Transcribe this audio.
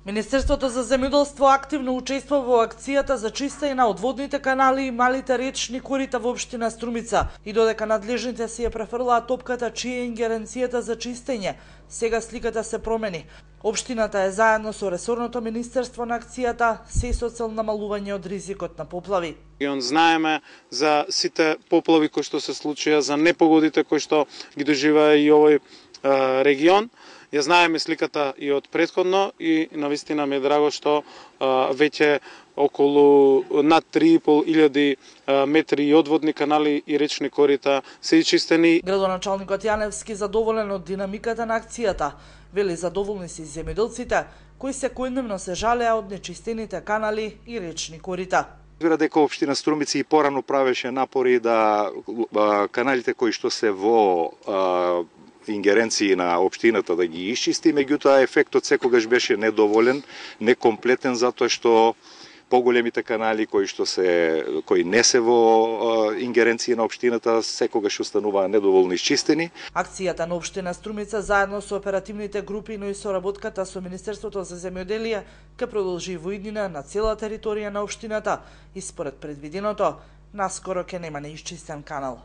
Министерството за земјоделство активно учествува во акцијата за чистење на одводните канали и малите речни корита во општина Струмица и додека надлежните си ја префрлаат топката чија е ингеренцијата за чистење, сега сликата се промени. Општината е заедно со ресорното министерство на акцијата, се со цел намалување од ризикот на поплави. Знаеме за сите поплави кои што се случија, за непогодите кои што ги доживеа и овој регион. Ја знаеме сликата и од претходно и навистина ми е драго што веќе околу над 3.500 метри и одводни канали и речни корита се чистени. Градоначалникот Јаневски задоволен од динамиката на акцијата, вели задоволни се земјоделците кои секојдневно се жалеа од нечистените канали и речни корита. Разбира дека општина Струмица и порано правеше напори да каналите кои што се во ингеренции на општината да ги исчисти, меѓутоа ефектот секогаш беше недоволен, некомплетен, затоа што поголемите канали кои не се во ингеренции на општината секогаш остануваа недоволно исчистени. Акцијата на општина Струмица заедно со оперативните групи, но и соработката со Министерството за земјоделие ќе продолжи во иднина на цела територија на општината и според предвиденото, наскоро ќе нема неисчистен канал.